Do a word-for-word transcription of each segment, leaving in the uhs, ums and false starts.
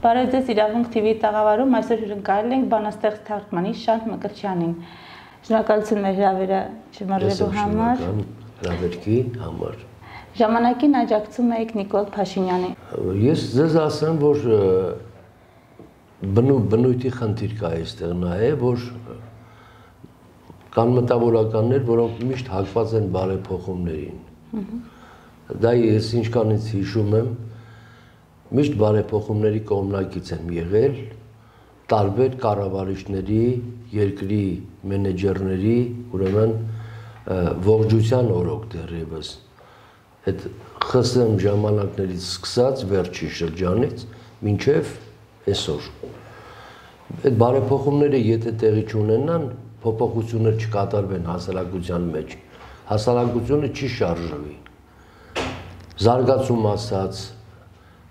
Բարև ձեզ իրավունք T V-ի տաղավարում այսօր հյուրընկալել ենք բանաստեղծ թարգմանիչ Շանթ Մկրտչյանին։ Շնորհակալություն մեր հրավերը շնորհելու համար։ Հրավերքի համար։ Ժամանակին աջակցում եք Նիկոլ Փաշինյանին։ Ես ձեզ ասեմ, որ բնույթի խնդիր կա այստեղ նաև, որ կան մտավորականներ, որոնք միշտ հակված են բարեփոխումներին։ Դա ես ինչքանից հիշում եմ, միշտ բարեփոխումների կողմնակից եմ եղել, տարբեր կառավարիչների, երկրի մենեջերների, ուրեմն ողջության օրոք դեռևս, այդ ԽՍՀՄ ժամանակներից սկսած վերջի շրջանից մինչև այսօր։ Այդ բարեփոխումները եթե տեղի չունենան, փոփոխություններ չկատարվեն հասարակության մեջ, հասարակությունը չի շարժվի։ Զարգացում ասած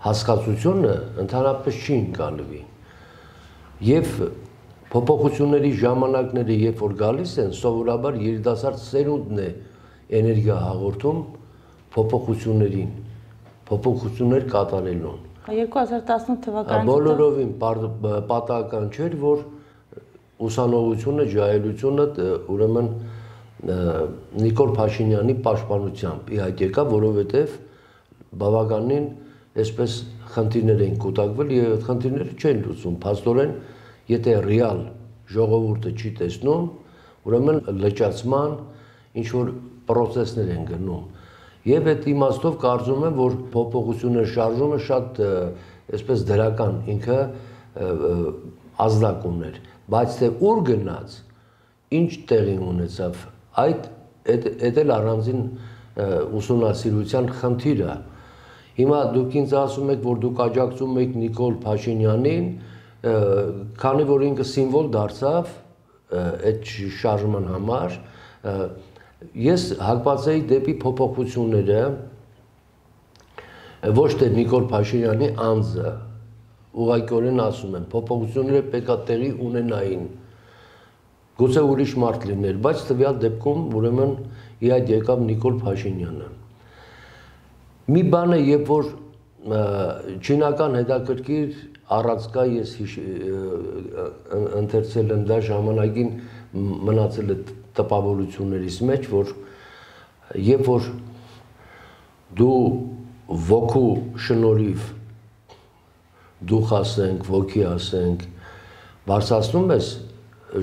հասկացությունը ընդհանրապես չի ընկալվի։ Եվ փոփոխությունների ժամանակները, երբ որ գալիս են, սովորաբար երիտասարդ սերունդն է էներգիա հաղորդում փոփոխություններին, փոփոխություններ կատարելուն։ երկու հազար տասնութ թվականից բոլորովին պատահական չէր, որ ուսանողությունը, ջահելությունը ուրեմն Նիկոլ Փաշինյանի պաշտպանությամբ ի հայտ եկավ, որովհետև բավականին այսպես խնդիրներ էին կուտակվել եւ այդ խնդիրները չեն լուծում։ Փաստորեն, եթե ռեալ ժողովուրդը չի տեսնում, ուրեմն լճացման ինչ որ process-ներ են գնում։ Եվ այդ իմաստով կարծում եմ, որ փոփոխությունների շարժումը շատ այսպես դրական ինքը ազդակ ուներ, բայց թե ուր գնաց, ինչ տեղի ունեցավ, այդ այդ էլ առանձին ուսումնասիրության խնդիր է։ Հիմա դուք ինձ ասում եք, որ դուք աջակցում եք Նիկոլ Փաշինյանին, քանի որ ինքը սիմվոլ դարձավ այդ շարժման համար, ես հակված էի դեպի փոփոխությունները, ոչ թե Նիկոլ Փաշինյանի անձը, ուղղակիորեն ասում եմ, փոփոխությունները պետք է տեղի ունենային, գուցե ուրիշ մարդ լիներ, բայց տվյալ դեպքում ուրեմն ի հայտ եկավ Նիկոլ Փաշինյանը։ Մի բան է, երբ որ չինական հետաքրքիր առածկա ես ընթերցել եմ դա ժամանակին մնացել է տպավորություններից մեջ, որ երբ որ դու ոգու շնորհիվ դուխ ասենք, ոգի ասենք, բարձրացնում ես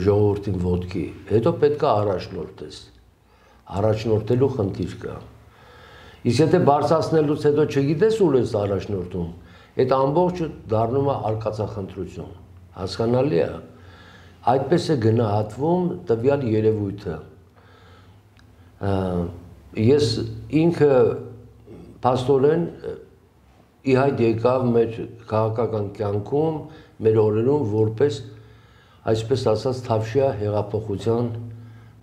ժողովրդին ոտքի, հետո պետք է առաջնորդես, առաջնորդելու խնդիր կա։ Իսկ եթե բարձրացնելուց հետո չգիտես ուր ես առաջնորդում, այդ ամբողջը դառնում է արկածախնդրություն, հասկանալի է, այդպես է գնահատվում տվյալ երևույթը։ Ես ինքը փաստորեն ի հայտ եկավ մեր քաղաքական կյանքում, մեր օրերում որպես այսպես ասած թավշյա հեղափոխության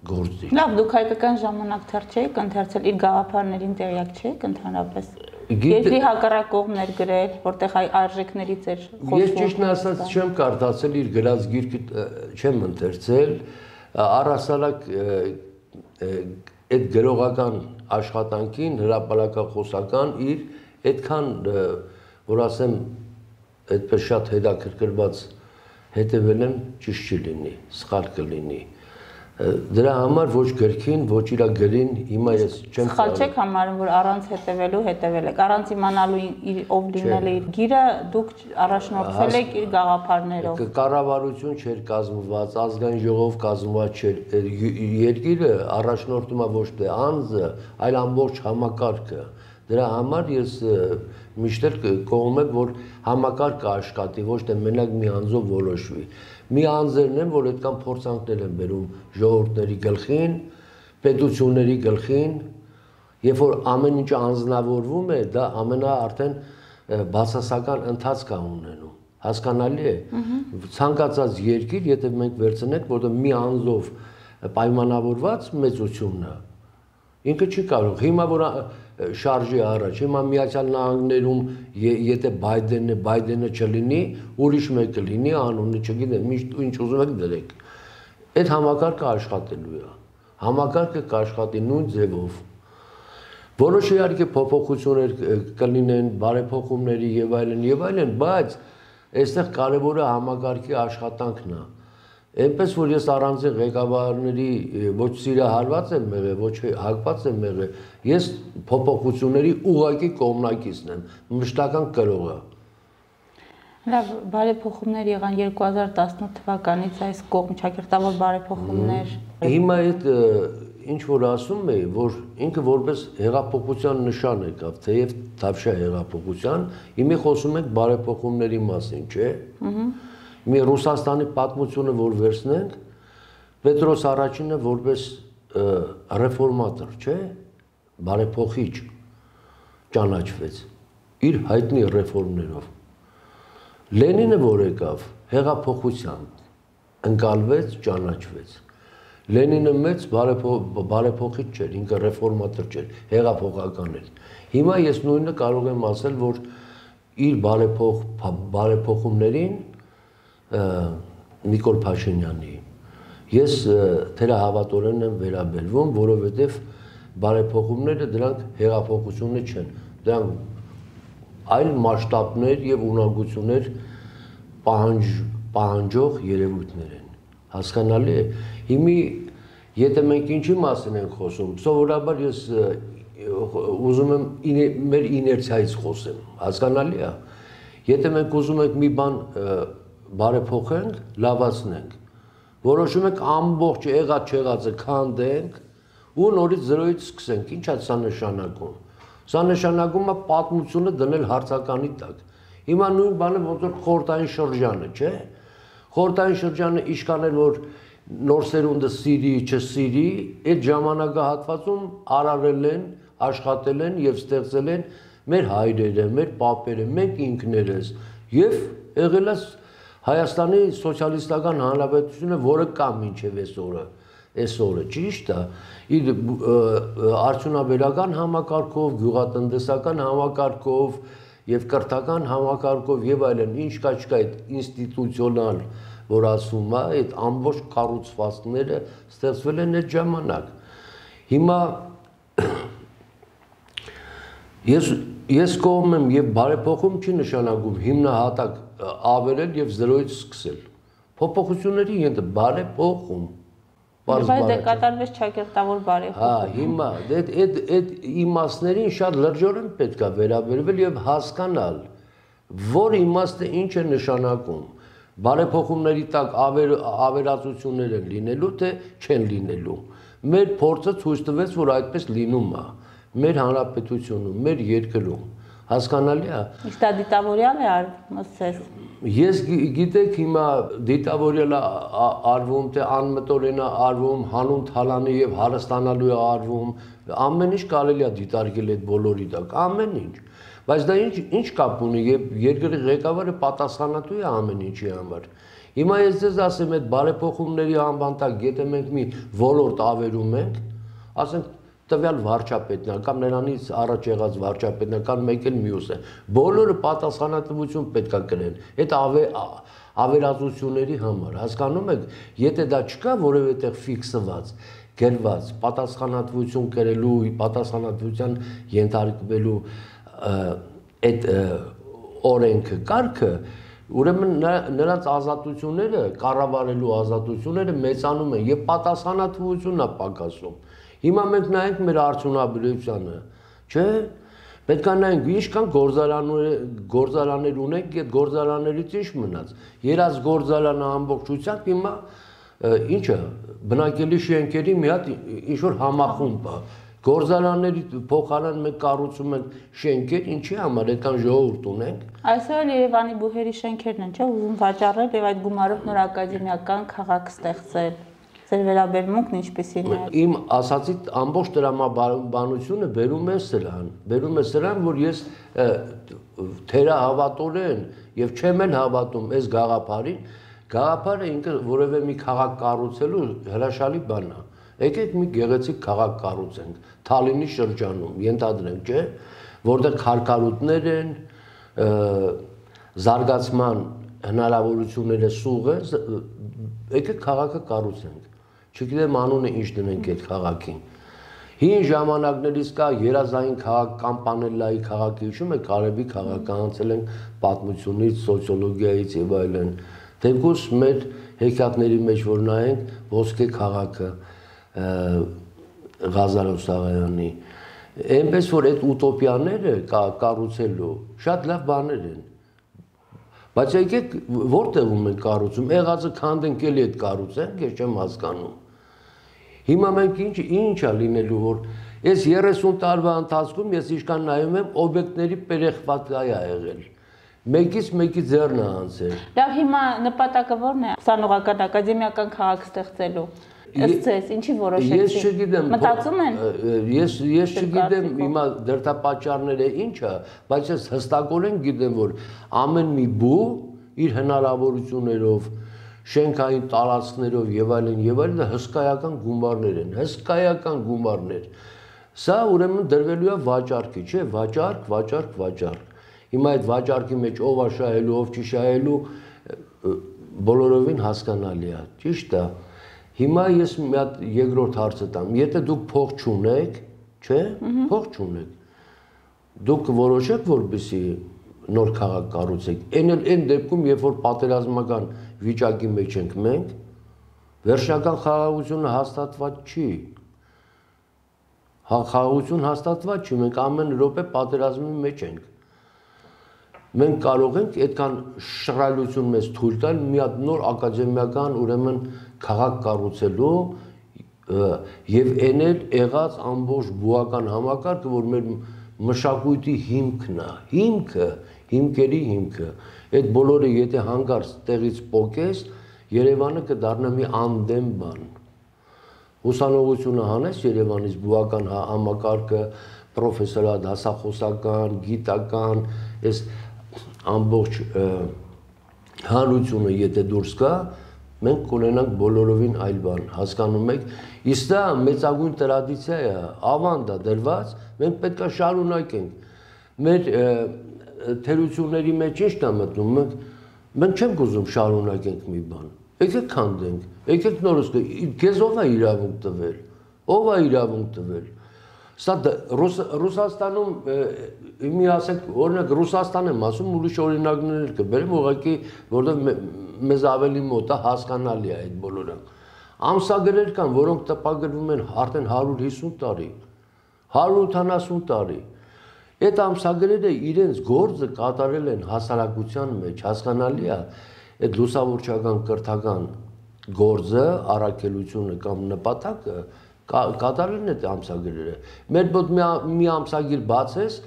գործիչ։ Լավ, դուք հայկական ժամանակ թերթ չեք ընթերցել, իր գաղափարներին տեղյակ չեք ընդհանրապես։ Երկրի հակառակ կողմներ գրել, որտեղ այ արժեքներից էր խոսվում։ Ես ճիշտն ասած չեմ կարդացել իր գրած գիրքը, չեմ ընթերցել, առհասարակ այդ գրողական աշխատանքին հրապարակախոսական իր այդքան, որ ասեմ, այդպես շատ հետաքրքրված հետևել եմ, ճիշտ չի լինի, սխալ կլինի։ Դրա համար ոչ գրքին, ոչ իր գրին հիմա ես չեմ սխալ չեք համարում, որ առանց հետևելու հետևել եք, առանց իմանալու ով լինել է իր գիրը, դուք առաջնորդվել եք իր գաղափարներով։ Կառավարություն չէր կազմված, ազգային ժողով կազմված չէր, երկիրը առաջնորդում է ոչ թե անձը, այլ ամբողջ համակարգը։ Դրա համար ես միշտ էլ կողմ եմ, որ համակարգը աշխատի, ոչ թե մենակ մի անձով որոշվի։ Մի անձերն են, որ այդքան փորձանքներ են բերում ժողովուրդների գլխին, պետությունների գլխին, երբ որ ամեն ինչ անձնավորվում է, դա ամենա արդեն բացասական ընթացք է ունենում, հասկանալի է։ Ցանկացած երկիր, եթե մենք վերցնենք, որտեղ մի անձով պայմանավորված մեծությունն է, ինքը չի կարող։ Հիմա որ շարժի առաջ, հիմա Միացյալ Նահանգներում եթե Բայդենն է, Բայդենը չլինի, ուրիշ մեկը լինի, անունը չգիտեմ, ինչ ուզում եք դրեք։ Այդ համակարգը աշխատելու է։ Համակարգը կաշխատի նույն ձևով։ Որոշ իհարկե փոփոխություններ կլինեն, բարեփոխումների եւ այլն եւ այլն, բայց այստեղ կարևորը համագարկի աշխատանքն է։ Այնպես որ ես առանձին ղեկավարների ոչ սիրահարված եմ եղել, ոչ հակված եմ եղել, ես փոփոխությունների ուղղակի կողմնակիցն եմ, մշտական կրողը։ Լավ, բարեփոխումներ եղան երկու հազար տասնութ թվականից այս կողմ ճակերտավոր բարեփոխումներ։ Հիմա այդ ինչ որ ասում էի, որ ինքը որպես հեղափոխության նշան եկավ, թեև Թավշյա հեղափոխության, հիմա խոսում ենք բարեփոխումների մասին, չէ՞։ Ահա մի Ռուսաստանի պատմությունը որ վերցնենք, Պետրոս առաջինը որպես ռեֆորմատոր, չէ, բարեփոխիչ ճանաչվեց իր հայտնի ռեֆորմներով։ Լենինը որ եկավ, հեղափոխությամբ ընկալվեց, ճանաչվեց։ Լենինը մեծ բարեփոխիչ չէր, ինքը ռեֆորմատոր չէր, հեղափոխական էր։ Հիմա ես նույնը կարող եմ ասել, որ իր բարեփոխ բարեփոխումներին Նիկոլ Փաշինյանի ես թերահավատորեն եմ վերաբերվում, որովհետև բարեփոխումները դրանք հեղափոխություններ չեն, դրանք այլ մասշտաբներ եւ ունակություններ պահանջ, պահանջող երևույթներ են, հասկանալի է։ Հիմի եթե մենք ինչի մասին ենք խոսում, սովորաբար ես ուզում եմ մեր իներցիայից խոսեմ, հասկանալի է։ Եթե մենք ուզում ենք մի բան բարեփոխենք, լավացնենք, որոշում ենք ամբողջ եղած չեղածը քանդենք ու նորից զրոյից սկսենք, ինչ է սա նշանակում։ Սա նշանակում է պատմությունը դնել հարցականի տակ։ Հիմա նույն բանը ոնց որ խորհրդային շրջանը, չէ՞։ Խորհրդային շրջանը իշքան էր, որ նոր սերունդը սիրի, չսիրի, այդ ժամանակահատվածում արարել են, աշխատել են եւ ստեղծել են մեր հայրերը, մեր պապերը, մենք ինքներս եւ եղել է Հայաստանի սոցիալիստական հանրապետությունը, որը կա մինչև այսօրը, այսօրը, ճիշտ է, իր արդյունաբերական համակարգով, գյուղատնտեսական համակարգով եւ կրթական համակարգով եւ այլն, ինչ կա չկա այդ ինստիտուցիոնալ, որ ասում է, այդ ամբողջ կառուցվածքները ստեղծվել են այդ ժամանակ։ Հիմա ես ես կողմ եմ եւ բարեփոխում չի նշանակում հիմնահատակ ավերել եւ զրոյից սկսել։ Փոփոխությունների ենթ բարեփոխում։ Բայց դե կատարվեց ճակերտավոր բարեփոխում։ Հա, հիմա այդ այդ այդ իմաստներին շատ լրջորեն պետք է վերաբերվել եւ հասկանալ, որ իմաստը ինչ է նշանակում։ Բարեփոխումների տակ ավերածություններ են լինելու, թե չեն լինելու։ Մեր փորձը ցույց տվեց, որ այդպես լինում է։ Մեր հանրապետությունում, մեր երկրում, հասկանալի է։ Իսկ դա դիտավորյալ է արվում, ասես։ Ես գիտեք հիմա դիտավորյալ է արվում, թե անմտորեն է արվում, հանուն թալանի եւ հարստանալու է արվում, ամեն ինչ կարելի է դիտարկել այդ բոլորի տակ, ամեն ինչ։ Բայց դա ինչ ինչ կապ ունի, երբ երկրի ղեկավարը պատասխանատու է ամեն ինչի համար։ Հիմա ես ձեզ ասեմ, այդ բարեփոխումների անվան տակ, եթե մենք մի ոլորտ ավերում ենք, ասենք տվյալ վարչապետն է կամ նրանից առաջ եղած վարչապետն է կամ մեկ էլ մյուս է, բոլորը պատասխանատվություն պետք է կրեն այդ ավերածությունների համար, հասկանում եք, եթե դա չկա որևէ տեղ ֆիքսված, գրված, պատասխանատվություն կրելու, պատասխանատվության ենթարկվելու այդ օրենքը, կարգը, ուրեմն նրանց ազատությունները, կառավարելու ազատությունները մեծանում են եւ պատասխանատվությունն է պակասում։ Հիմա մենք նայենք մեր արդյունաբերությանը, չէ՞, պետք է նայենք ինչքան գործարաններ գործարաններ ունենք, այդ գործարաններից ինչ մնաց։ Երաց գործարանը ամբողջությամբ հիմա ինչը բնակելի շենքերի մի հատ ինչ որ համախումբ է։ Գործարանների փոխարեն մենք կառուցում ենք շենքեր, ինչի համար այդքան ժողովուրդ ունենք։ Այսօր Երևանի բուհերի շենքերն են, չէ՞, ուզում վաճառել եւ այդ գումարով նոր ակադեմիական քաղաք ստեղծել։ Ձեր վերաբերմունքն ինչպեսին է։ Իմ ասացի ամբողջ տրամաբանությունը բերում է սրան, բերում է սրան, որ ես թերահավատորեն եւ չեմ էլ հավատում այս գաղափարին, գաղափարը ինքը որևէ մի քաղաք կառուցելու հրաշալի բան է։ Եկեք մի գեղեցիկ քաղաք կառուցենք Թալինի շրջանում, ենթադրենք, չէ, որտեղ քարքարուտներ են, զարգացման հնարավորությունները սուղ է, եկեք քաղաքը կառուցենք։ Չգիտեմ անունը ինչ դնենք այդ քաղաքին։ Հին ժամանակներից կա երազային քաղաք Կամպանելլայի քաղաքը, հիշում եք, Արևի քաղաքը անցել են պատմությունից, սոցիոլոգիայից եւ այլն։ Թեկուզ մեր հեքիաթների մեջ որ նայենք ոսկե քաղաքը Ղազարով Սաղայանի, այնպես որ այդ ուտոպիաները կառուցելու շատ լավ բաներ են։ Բայց եկեք որտեղում են կառուցում, եղածը քանդենք էլի այդ կառուցենք, ես չեմ հասկանում։ Հիմա մենք ինչ ինչ է լինելու, որ այս երեսուն տարվա ընթացքում ես իշքան նայում եմ օբյեկտների պերեխվատկա է եղել։ Մեկից մեկի ձեռն է անցել։ Լավ, հիմա նպատակը ո՞րն է։ Ուսանողական ակադեմիական քաղաք ստեղծելու։ Ըստ ձեզ, ինչի որոշեցիք։ Ես չգիտեմ։ Մտածում են։ Ես ես չգիտեմ հիմա դրդապատճառները ինչ է, բայց ես հստակորեն գիտեմ, որ ամեն մի բու իր հնարավորություններով, շենքային տարածքներով եւ այլն եւ այլն հսկայական գումարներ են, հսկայական գումարներ։ Սա ուրեմն դրվելու է վաճառքի, չէ՞, վաճառք, վաճառք, վաճառք։ Հիմա այդ վաճառքի մեջ ով է շահելու, ով չի շահելու, բոլորովին հասկանալի է, ճիշտ է։ Հիմա ես մի հատ երկրորդ հարցը տամ, եթե դուք փող չունեք, չէ՞, փող չունեք, դուք որոշեք, որպեսզի նոր քաղաք կառուցեք, այն էլ այն դեպքում, երբ որ պատերազմական վիճակի մեջ ենք մենք, վերջնական խաղաղությունը հաստատված չի։ Խաղաղություն հաստատված չի, մենք ամեն րոպե պատերազմի մեջ ենք։ Մենք կարող ենք այդքան շռայլություն մեզ թույլ տալ մի հատ նոր ակադեմիական ուրեմն քաղաք կառուցելու եւ այն էլ եղած ամբողջ բուական համակարգը, որ մեր մշակույթի հիմքն է, հիմքը, հիմքերի հիմքը։ Այդ բոլորը եթե հանգարց տեղից պոկես, Երևանը կդառնա մի անդեմ բան։ Ուսանողությունը հանես Երևանից բուական համակարգը, պրոֆեսորատ, հասախոսական, գիտական, այս ամբողջ հանրությունը եթե դուրս գա, մենք կունենանք բոլորովին այլ բան, հասկանում եք, իսկ դա մեծագույն տրադիցիա է, ավանդ է դրված, մենք պետք է շարունակենք։ Մեր թերությունների մեջ ինչ է մտնում, մենք մենք չենք ուզում շարունակենք մի բան։ Եկեք քանդենք, եկեք նորից, քեզ ով է իրավունք տվել, ով է իրավունք տվել։ Սա Ռուսաստանում մի ասեք, օրինակ Ռուսաստան եմ ասում, ուրիշ օրինակներ կբերեմ, ուղղակի որովհետև մեզ ավելի մոտ է, հասկանալի է այդ բոլորը։ Ամսագրեր կան, որոնք տպագրվում են արդեն հարյուր հիսուն տարի, հարյուր ութանասուն տարի։ Այդ ամսագրերը իրենց գործը կատարել են հասարակության մեջ, հասկանալի է, այդ լուսավորչական կրթական գործը, առաքելությունը կամ նպատակը կատարելն է ամսագրերը։ Մեր մոտ մի ամսագիր բացես,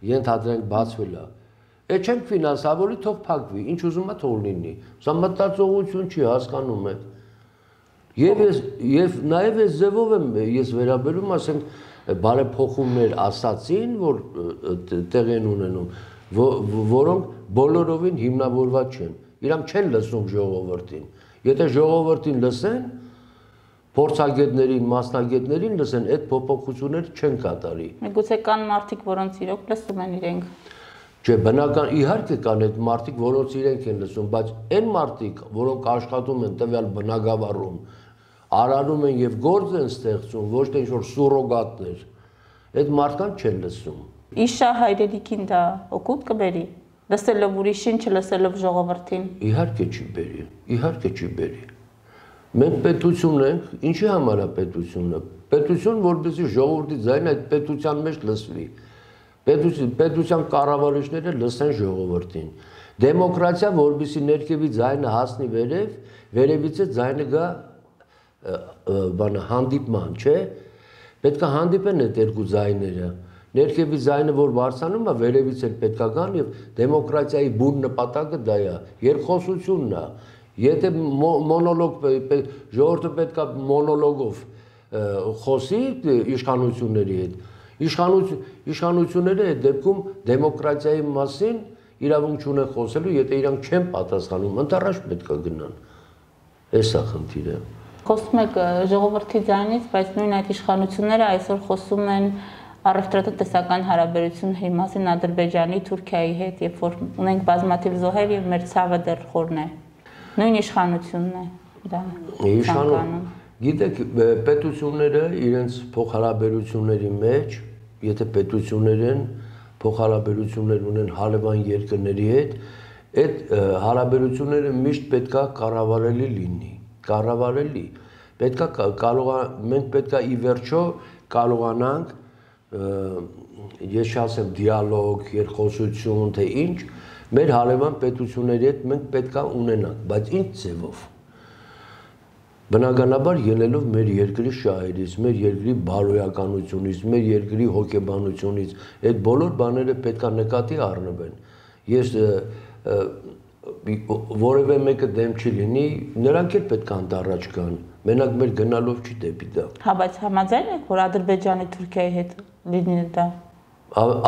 ենթադրենք բացվել է։ Այդ չենք ֆինանսավորի, թող փակվի, ինչ ուզում է թող լինի։ Սա մտածողություն չի, հասկանում եք։ Եվ ես եւ նաեւ այս ձևով եմ ես վերաբերում, ասենք, բարեփոխումներ ասացին, որ տեղ են ունենում, որոնք բոլորովին հիմնավորված չեն։ Իրանք չեն լսում ժողովրդին։ Եթե ժողովրդին լսեն, փորձագետներին, մասնագետներին լսեն, այդ փոփոխությունները չեն կատարի։ Միգուցե կան մարդիկ, որոնց իրոք լսում են իրենք։ Չէ, բնական իհարկե կան այդ մարդիկ, որոնց իրենք են լսում, բայց այն մարդիկ, որոնք աշխատում են տվյալ բնակավարում, արարում են եւ գործ են ստեղծում, ոչ թե ինչ-որ սուրոգատներ, այդ մարդկանց չեն լսում։ Իշա հայրենիքին դա օգուտ կբերի։ Լսելով ուրիշին, չլսելով ժողովրդին։ Իհարկե չի բերի, իհարկե չի բերի։ Մենք պետություն ենք, ինչի համար է պետությունը։ Պետություն, որպեսզի ժողովրդի ձայնը այդ պետության մեջ լսվի։ Պետություն, պետության կառավարիչները լսեն ժողովրդին։ Դեմոկրատիա, որպեսզի ներքևի ձայնը հասնի վերև, վերևից է ձայնը գա բանը հանդիպման, չէ։ Պետք է հանդիպեն այդ երկու ձայները։ Ներքևի ձայնը, որ բարձրանում է, վերևից էլ պետք է գան եւ դեմոկրատիայի բուն նպատակը դա է, երկխոսությունն է։ Եթե մոնոլոգ ժողովուրդը պետք է մոնոլոգով խոսի իշխանությունների հետ, իշխանությունները այդ դեպքում դեմոկրատիայի մասին իրավունք չունեն խոսելու, եթե իրանք չեն պատասխանում, ընդառաջ պետք է գնան։ Էս է խնդիրը։ Խոսում եք ժողովրդի ձայնից, բայց նույն այդ իշխանությունները այսօր խոսում են առևտրատնտեսական հարաբերությունների մասին Ադրբեջանի, Թուրքիայի հետ, երբ որ ունենք բազմաթիվ զոհեր եւ մեր ցավը դեռ խորն է։ Նույն իշխանությունն է դա։ Գիտեք, պետությունները իրենց փոխհարաբերությունների մեջ, եթե պետություններ են, փոխհարաբերություններ ունեն հարևան երկրների հետ, այդ հարաբերությունները միշտ պետքա կառավարելի լինի, կառավարելի։ Պետքա կարող մենք պետքա ի վերջո կարողանանք ես չասեմ դիալոգ, երկխոսություն, թե ինչ, մեր հարևան պետությունների հետ մենք պետքա ունենանք, բայց ինչ ձևով։ Բնականաբար ելնելով մեր երկրի շահերից, մեր երկրի բարոյականությունից, մեր երկրի հոգեբանությունից, այդ բոլոր բաները պետքա նկատի առնվեն։ Ես որևէ մեկը դեմ չի լինի, նրանք էլ պետք է անտառաջ կան, մենակ մեր գնալով չի դեպի դա։ Հա, բայց համաձայն եք, որ Ադրբեջանի Թուրքիայի հետ լինի դա։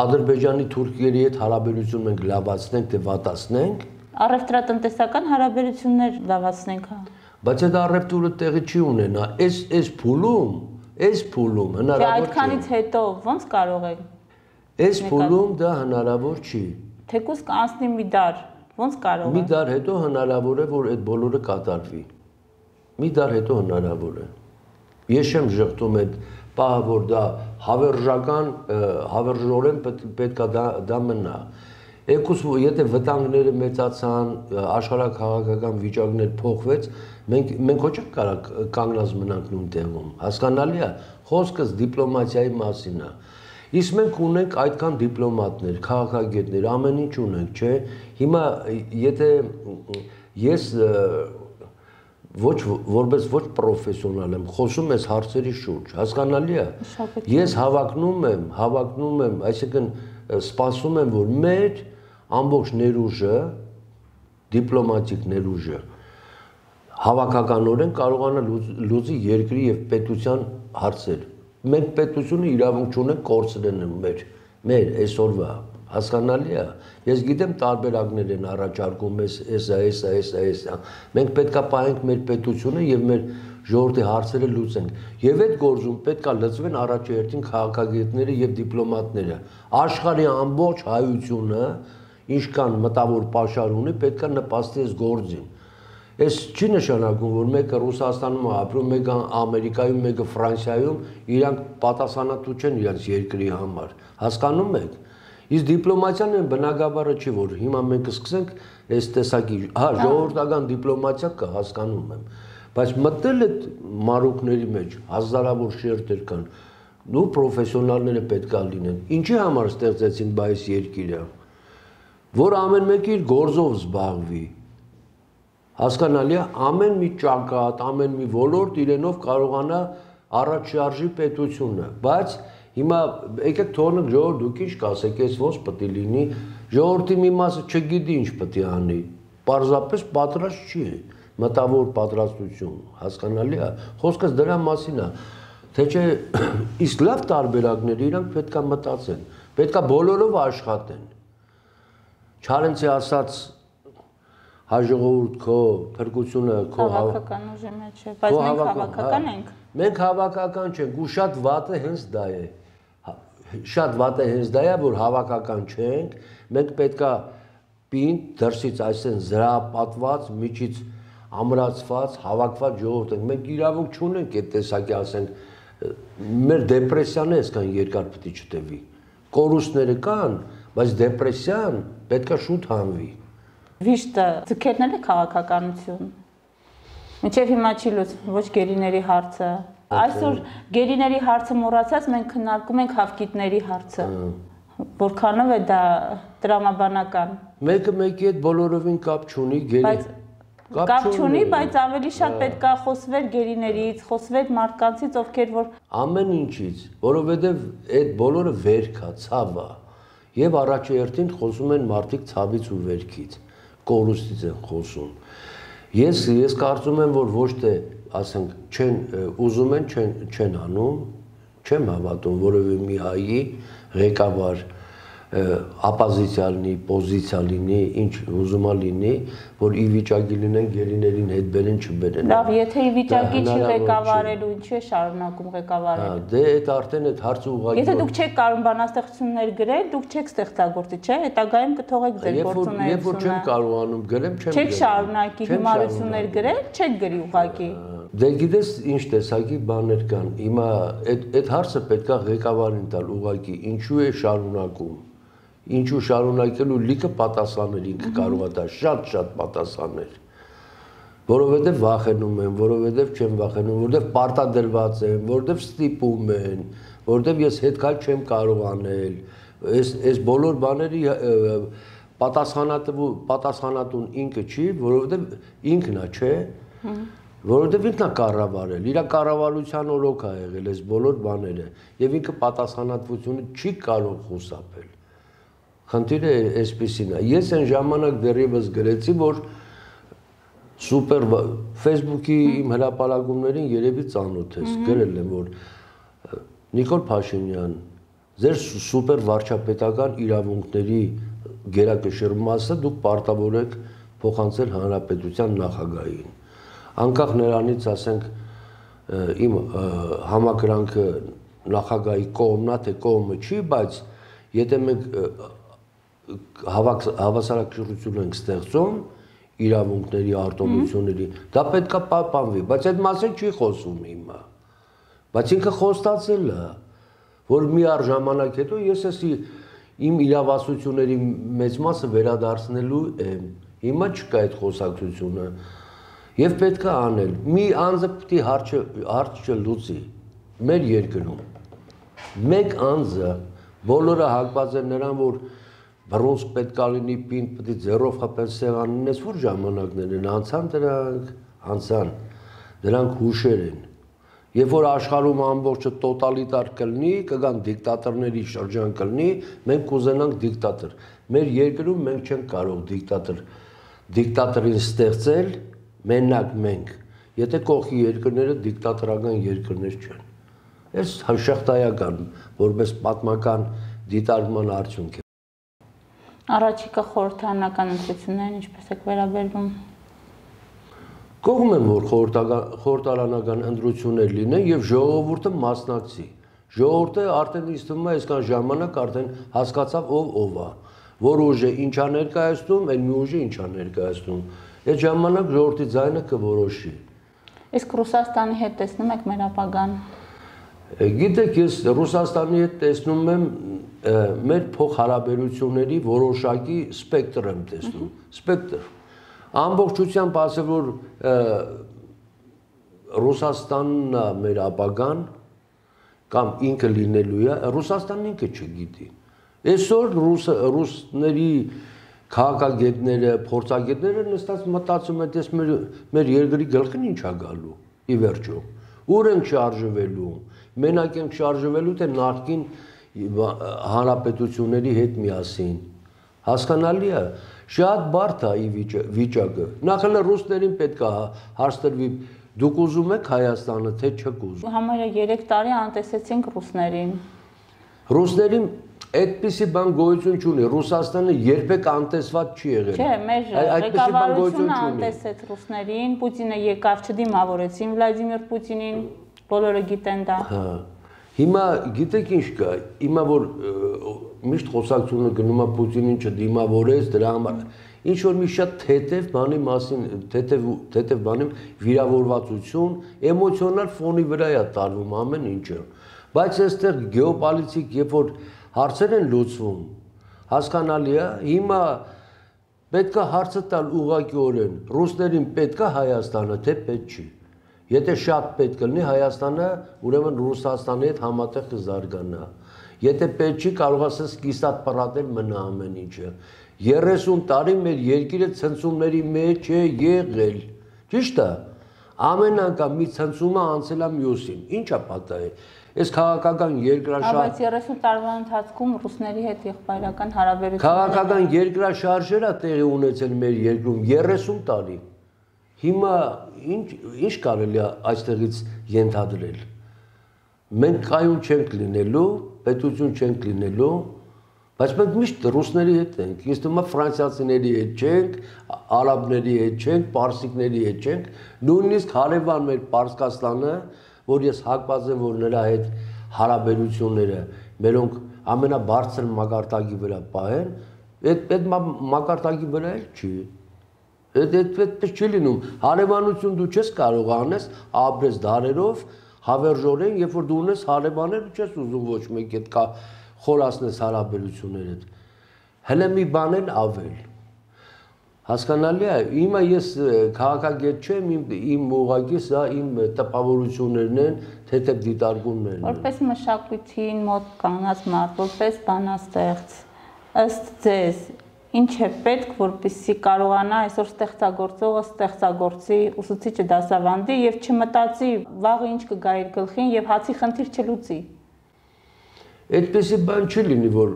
Ադրբեջանի Թուրքիայի հետ հարաբերություն մենք լավացնենք, թե վատացնենք։ Առևտրատնտեսական հարաբերություններ լավացնենք, հա։ Բայց այդ առևտուրը տեղի չի ունենա, այս այս փուլում, այս փուլում հնարավոր չէ։ Այդքանից հետո ո՞նց կարող է։ Այս փուլում դա հնարավոր չի։ Թեկուզ կանցնի մի դար, ո՞նց կարող է։ Մի դար հետո հնարավոր է, որ այդ բոլորը կատարվի։ Մի դար հետո հնարավոր է։ Ես չեմ ժխտում այդ պահը, որ դա հավերժական, հավերժորեն պետք է դա մնա։ Եկուս եթե վտանգները մեծացան, աշխարհաքաղաքական վիճակներ փոխվեց, մենք մենք ոչ կարող կանգնած մնանք նույն տեղում։ Հասկանալի է, խոսքս դիպլոմատիայի մասին է։ Իսկ մենք ունենք այդքան դիպլոմատներ, քաղաքագետներ, ամեն ինչ ունենք, չէ։ Հիմա եթե ես ոչ որպես ոչ պրոֆեսիոնալ եմ, խոսում ես հարցերի շուրջ, հասկանալի է։ Ես հավակնում եմ, հավակնում եմ, այսինքն սպասում եմ, որ մեր ամբողջ ներուժը, դիպլոմատիկ ներուժը հավաքականորեն կարողանա լուծի երկրի եւ պետության հարցեր։ Մենք պետությունը իրավունք չունենք կորցնեն մեր, մեր այսօրվա, հասկանալի է։ Ես գիտեմ տարբերակներ են առաջարկում, էս, էսա, էսա, էսա, էսա։ Մենք պետքա պահենք մեր պետությունը եւ մեր ժողովրդի հարցերը լուծենք։ Եվ այդ գործում պետքա լծվեն առաջերտին քաղաքագետները եւ դիպլոմատները։ Աշխարհի ամբողջ հայությունը, ինչքան մտավոր պաշար ունի, պետքա նպաստի այս գործին։ Այս չի նշանակում, որ մեկը Ռուսաստանում է ապրում, մեկը Ամերիկայում, մեկը Ֆրանսիայում, իրանք պատասխանատու չեն իրենց երկրի համար։ Հասկանում եք։ Իսկ դիպլոմատիան են բնագավառը չի, որ հիմա մենք կսկսենք այս տեսակի, հա, ժողովրդական դիպլոմատիա կա, հասկանում եմ, բայց մտնել այդ մարուկների մեջ հազարավոր շերտեր կան, ու պրոֆեսիոնալները պետք է լինեն։ Ինչի համար ստեղծեցին այս երկիրը, որ ամեն մեկը իր գործով զբաղվի։ Հասկանալի է, ամեն մի ճակատ, ամեն մի ոլորտ իրենով կարողանա առաջ շարժի պետությունը, բայց հիմա եկեք թողնենք ժողովուրդ դուք ինչ կասեք, այս ոնց պետք է լինի, ժողովրդի մի մասը չգիտի ինչ պետք է անի, պարզապես պատրաստ չի, մտավոր պատրաստություն, հասկանալի է, խոսքս դրա մասին է, թե չէ իսկ լավ տարբերակները իրանք պետք է մտածեն, պետք է բոլորով աշխատեն, Չարենցի ասած հաջողորդ քո փրկությունը քո հավաքական ուժի մեջ է, բայց մենք հավաքական ենք։ Մենք հավաքական չենք, ու շատ վատը հենց դա է։ Շատ վատը հենց դա է, որ հավաքական չենք, մենք պետքա պինդ դրսից այսեն զրահապատված, միջից ամրացված, հավաքված ժողովուրդ ենք։ Մենք իրավունք չունենք այդ տեսակի ասենք, մեր դեպրեսիան է այսքան երկար պետք է չտևի։ Կորուստները կան, բայց դեպրեսիան պետքա շուտ հանվի։ Վիշտը ձգերն է քաղաքականություն։ Մինչև հիմա չի լուծվում ոչ գերիների հարցը։ Այսօր գերիների հարցը մոռացած մենք քննարկում ենք հավկիտների հարցը։ Որքանով է դա տրամաբանական։ Մեկը մեկի հետ բոլորովին կապ չունի, գերի։ Կապ չունի, բայց ավելի շատ պետք է խոսվել գերիներից, խոսվել մարդկանցից, ովքեր որ ամեն ինչից, որովհետև այդ բոլորը վերք է, ցավ է։ Եվ առաջերտին խոսում են մարդիկ ցավից ու վերքից, կորուստից են խոսում։ Ես ես կարծում եմ, որ ոչ թե, ասենք, չեն ուզում են, չեն չեն անում, չեմ հավատում որևէ մի հայի ղեկավար ապոզիցիա լինի, պոզիցիա լինի, ինչ ուզում է լինի, որ ի վիճակի լինեն գերիներին հետ բերեն, չբերեն։ Լավ, եթե ի վիճակի չի ղեկավարելու, ինչու է շարունակում ղեկավարել։ Դե այդ արդեն այդ հարցը ուղղակի Եթե դուք չեք կարող բանաստեղծություններ գրել, դուք չեք ստեղծագործի, չէ՞, հետագայում կթողեք ձեր գործունեությունը։ Երբ որ չեմ կարողանում գրեմ, չեմ Չեք շարունակի հիմարություններ գրել, չեք գրի ուղղակի։ Դե գիտես ինչ տեսակի բաներ կան։ Հիմա այդ հարցը պետքա ղեկավարին տալ ուղղակի ինչու է շարունակում։ Ինչու շարունակելու լիքը պատասխաններ ինքը կարող է տալ, շատ-շատ պատասխաններ։ Որովհետև վախենում են, որովհետև չեմ վախենում, որովհետև պարտադրված են, որովհետև ստիպում են, որովհետև ես հետքալ չեմ կարող անել։ Այս այս բոլոր բաների պատասխանատու պատասխանատուն ինքը չի, որովհետև ինքն է, չէ։ Որովհետև ինքն է կառավարել, իր կառավարության օրոք է եղել այս բոլոր բաները, եւ ինքը պատասխանատվությունը չի կարող խուսափել։ Խնդիրը այսպեսին է։ Ես այն ժամանակ դեռևս գրեցի, որ սուպեր Facebook-ի իմ հրապարակումներին երևի ծանոթ ես, գրել եմ, որ Նիկոլ Փաշինյան, ձեր սուպեր վարչապետական իրավունքների գերակշռ մասը դուք պարտավոր եք փոխանցել հանրապետության նախագահին։ Անկախ նրանից, ասենք, իմ համակրանքը նախագահի կողմնա թե կողմը չի, բայց եթե մենք հավասարակշռություն ենք ստեղծում իրավունքների, արտոնությունների, դա պետք է պահպանվի, բայց այդ մասին չի խոսում հիմա։ Բայց ինքը խոստացել է, որ մի առ ժամանակ հետո ես էսի իմ իրավասությունների մեծ մասը վերադարձնելու եմ։ Հիմա չկա այդ խոսակցությունը։ Եվ պետք է անել։ Մի անձը պետք է հարցը լուծի մեր երկրում։ Մեկ անձը բոլորը հակված են նրան, որ բռունցք պետք է լինի, պինդ պետք է ձեռով խփել սեղանին, այս որ ժամանակներ են, անցան դրանք, անցան, դրանք հուշեր են։ Երբ որ աշխարհում ամբողջը տոտալիտար կլինի, կգան դիկտատորների շրջան կլինի, մենք կուզենանք դիկտատոր։ Մեր երկրում մենք չենք կարող դիկտատոր դիկտատորին ստեղծել, մենակ մենք, եթե կողքի երկրները դիկտատորական երկրներ չեն։ Այս հաշախտայական, որպես պատմական դիտարկման արդյունք է։ Առաջիկա խորհրդարանական ընտրություններին ինչպես եք վերաբերվում։ Կողմ եմ, որ խորհրդարանական ընտրություններ լինեն եւ ժողովուրդը մասնակցի։ Ժողովուրդը արդեն ինձ թվում է այսքան ժամանակ արդեն հասկացավ ով ով է, որ ուժը ինչա ներկայացնում, այլ մի ուժը ինչա ներկայացնում։ Այդ ժամանակ ժողովրդի ձայնը կորոշի։ Իսկ Ռուսաստանի հետ տեսնում եք մեր ապագան։ Գիտեք, ես Ռուսաստանի հետ տեսնում եմ մեր փոխհարաբերությունների որոշակի սպեկտր եմ տեսնում, սպեկտր։ Ամբողջությամբ ասել, որ Ռուսաստանն է մեր ապագան կամ ինքը լինելու է, Ռուսաստանն ինքը չգիտի։ Այսօր ռուսների քաղաքագետները, փորձագետները նստած մտածում են, դες մեր մեր երկրի գլխին ինչ է գալու, ի վերջո։ Ուր ենք շարժվելու, մենակ ենք շարժվելու, թե նախկին հանրապետությունների հետ միասին։ Հասկանալի է, շատ բարդ է ի վիճակը։ Նախ էլ ռուսներին պետք է հարցրվի, դուք ուզում եք Հայաստանը, թե չեք ուզում։ Համարյա երեք տարի անտեսեցինք ռուսներին։ Ռուսներին այդպիսի բան գոյություն չունի, Ռուսաստանը երբեք անտեսված չի եղել։ Չէ, մեր ղեկավարությունը անտեսեց ռուսներին, Պուտինը եկավ, չդիմավորեցին Վլադիմիր Պուտինին, բոլորը գիտեն դա։ Հա։ Հիմա գիտեք ինչ կա, հիմա որ միշտ խոսակցությունը գնում է Պուտինին չդիմավորեց, դրա համար ինչ որ մի շատ թեթև բանի մասին, թեթև թեթև բանի վիրավորվածություն, էմոցիոնալ ֆոնի վրա է տարվում ամեն ինչը։ Բայց այստեղ գեոպոլիտիկ, երբ որ հարցեր են լուծվում, հասկանալի է, հիմա պետք է հարցը տալ ուղղակիորեն, ռուսներին պետք է Հայաստանը, թե պետք չի։ Եթե շատ պետք լինի Հայաստանը, ուրեմն Ռուսաստանի հետ համատեղ կզարգանա։ Եթե պետք չի, կարող ասես կիսատ պրատել մնա ամեն ինչը։ երեսուն տարի մեր երկիրը ցնցումների մեջ է եղել։ Ճիշտ է։ Ամեն անգամ մի ցնցումը անցել է մյուսին։ Ինչ է պատահել։ Այս քաղաքական երկրաշարժ։ Բայց երեսուն տարվա ընթացքում ռուսների հետ եղբայրական հարաբերությունները քաղաքական երկրաշարժեր է տեղի ունեցել մեր երկրում երեսուն տարի։ Հիմա ինչ ինչ կարելի է այստեղից ենթադրել։ Մենք կայուն չենք լինելու, պետություն չենք լինելու, բայց մենք միշտ ռուսների հետ ենք։ Ինձ թվում է ֆրանսիացիների հետ չենք, արաբների հետ չենք, պարսիկների հետ չենք, նույնիսկ հարևան մեր Պարսկաստանը, որ ես հակված եմ, որ նրա հետ հարաբերությունները մերոնք ամենաբարձր մակարդակի վրա պահեն, այդ այդ մակարդակի վրա էլ չի։ Այդ այդպես չի լինում։ Հարևանություն դու չես կարող անես ապրես դարերով հավերժորեն, երբ որ դու ունես հարևաններ ու չես ուզում ոչ մեկ այդ կա խորացնես հարաբերություններդ։ Հələ մի բան էլ ավել։ Հասկանալի է, իմը ես քաղաքագետ չեմ, իմ ուղղակի սա իմ տպավորություններն են, թեթև դիտարկումներն են։ Որպես մշակույթին մոտ կանած մարդ, որպես բանաստեղծ, ըստ ձեզ, ինչ է պետք, որպեսզի կարողանա այսօր ստեղծագործողը ստեղծագործի, ուսուցիչը դասավանդի եւ չմտածի վաղը ինչ կգա իր գլխին եւ հացի խնդիր չլուծի։ Այդպեսի բան չի լինի, որ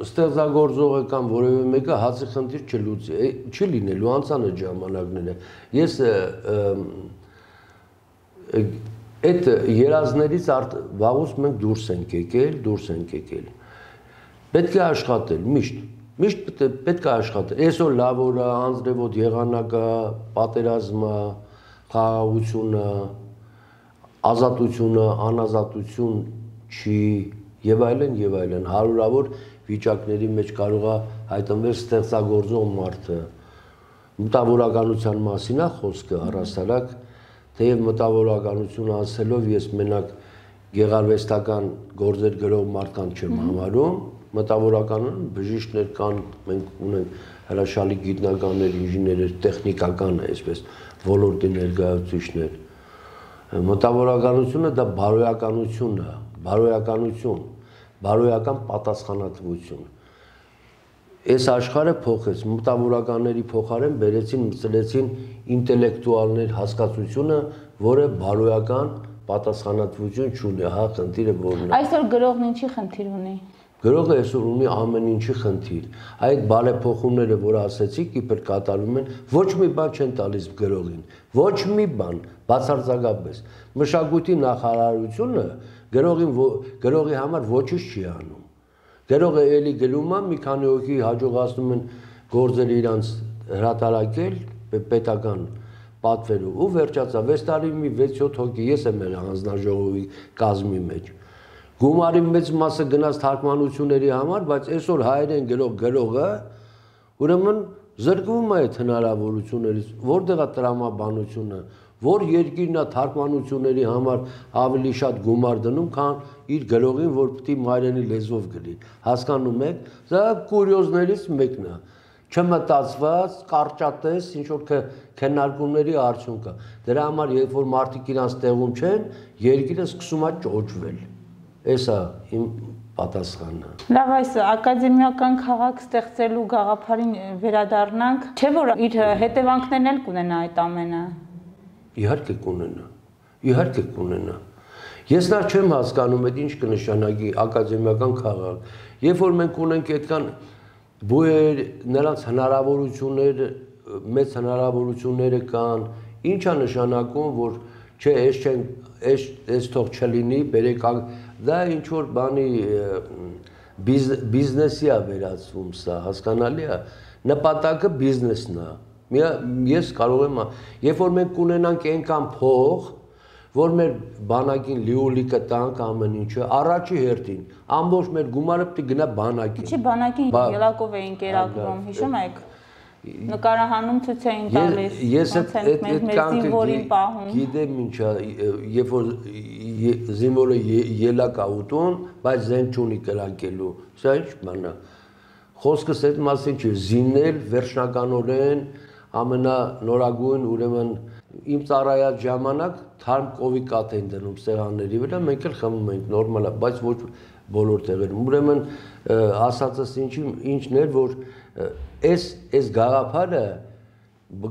ստեղծագործողը կամ որևէ մեկը հացի խնդիր չլուծի, չի լինելու անցանոթ ժամանակները։ Ես այդ երազներից վաղուց մենք դուրս ենք եկել, դուրս ենք եկել։ Պետք է աշխատել միշտ, միշտ պետք է աշխատել։ Այսօր լավ օր է, անձրևոտ եղանակ է, պատերազմը, խաղաղությունը, ազատությունը, անազատություն չի եւ այլն եւ այլն հարյուրավոր վիճակների մեջ կարող է հայտնվել ստեղծագործող մարդը մտավորականության մասին է խոսքը առհասարակ թեև մտավորականությունը ասելով ես մենակ գեղարվեստական գործեր գրող մարդկանց չեմ համարում մտավորականն բժիշկներ կան մենք ունենք հրաշալի գիտնականներ ինժեներներ տեխնիկական այսպես ոլորտի ներկայացուցիչներ մտավորականությունը դա բարոյականություն է բարոյականություն բարոյական պատասխանատվություն այս աշխարհը փոխեց մտավորականների փոխարեն բերեցին մտցրեցին ինտելեկտուալներ հասկացությունը որը բարոյական պատասխանատվություն չունի հա խնդիրը որն է այսօր գրողն ինչի խնդիր ունի գրողը այսօր ունի ամեն ինչի խնդիր այդ բարեփոխումները որ ասեցիք իբր կատարվում են ոչ մի բան չեն տալիս գրողին ոչ մի բան բացարձակապես մշակույթի նախարարությունը գրողին գրողի համար ոչինչ չի անում գրողը էլի գլում է մի քանի հոգի հաջողացնում են գործերը իրանց հրատարակել պետական պատվերով ու վերջացա վեց տարի մի վեց յոթ հոգի ես եմ եղել հանձնաժողովի կազմի մեջ գումարի մեծ մասը գնաց թարգմանությունների համար բայց այսօր հայերեն գրող գրողը ուրեմն զրկվում է այդ հնարավորություններից որտեղ է տրամաբանությունը որ երկիրն է թարգմանությունների համար ավելի շատ գումար դնում, քան իր գրողին, որ պիտի մայրենի լեզվով գրի։ Հասկանում եք, դա կուրիոզներից մեկն է։ Չմտածված, կարճատես, ինչ որ քննարկումների արդյունք է։ Դրա համար, երբ որ մարդիկ իրանց տեղում չեն, երկիրը սկսում է ճոճվել։ Էսա իմ պատասխանը։ Լավ, այս ակադեմիական քաղաք ստեղծելու գաղափարին վերադառնանք, չէ՞ որ իր հետևանքներն էլ կունենա այդ ամենը։ Իհարկե կունենա, իհարկե կունենա։ Ես նա չեմ հասկանում, այդ ինչ կնշանակի ակադեմիական քաղաք։ Երբ որ մենք ունենք այդքան բույր, նրանց հնարավորություններ, մեծ հնարավորությունները կան, ինչ է նշանակում, որ չէ, այս չեն, այս այս թող չլինի, բերեք, դա ինչ որ բանի բիզնեսի է վերածվում սա, հասկանալի է, նպատակը բիզնեսն է։ Ես կարող եմ, երբ որ մենք կունենանք այնքան փող, որ մեր բանակին լիոլիկը տանք ամեն ինչը, առաջի հերթին, ամբողջ մեր գումարը պիտի գնա բանակին։ Չի բանակին ելակով էին կերակրում, հիշում եք, նկարահանում ցույց էին տալիս, ես այդ կյանքը գիտեմ ինչա, երբ որ զինվորը ելակ է ուտում, բայց զենք չունի կրակելու, սա ինչ բան է, խոսքս այդ մասին չի, զինել վերջնականորեն ամենանորագույն ուրեմն իմ ծառայած ժամանակ թարմ կովի կաթ են դնում սեղանների վրա, մենք էլ խմում ենք նորմալ է, բայց ոչ բոլոր տեղերում։ Ուրեմն ասածս ինչն էր, որ այս այս գաղափարը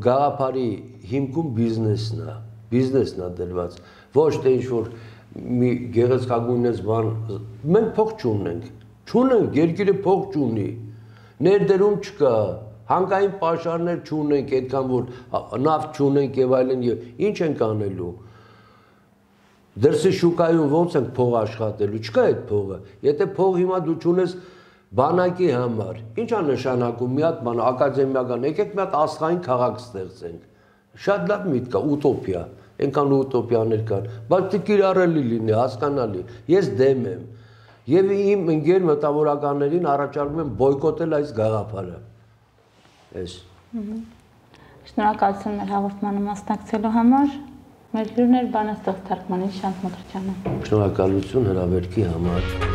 գաղափարի հիմքում բիզնեսն է, բիզնեսն է դրված, ոչ թե ինչ որ մի գեղեցկագույնս բան, մենք փող չունենք, չունենք, երկիրը փող չունի, ներդրում չկա Հանկային պաշարներ չունենք, այդքան որ նավթ չունենք եւ այլն եւ ինչ ենք անելու։ Դրսի շուկայում ոնց ենք փող աշխատելու, չկա այդ փողը։ Եթե փող հիմա դու չունես բանակի համար, ի՞նչ է նշանակում մի հատ բան ակադեմիական, եկեք մի հատ աստղային քաղաք ստեղծենք։ Շատ լավ միտք է, ուտոպիա, այնքան ուտոպիաներ կան, բայց կիրառելի լինի, հասկանալի։ Ես դեմ եմ։ Եվ իմ ընկեր մտավորականներին առաջարկում եմ բոյկոտել այս գաղափարը։ Ես։ Շնորհակալություն մեր հաղորդմանը մասնակցելու համար։ Մեր հյուրն էր բանաստեղծ թարգմանիչ Շանթ Մկրտչյանը։ Շնորհակալություն հրավերքի համար։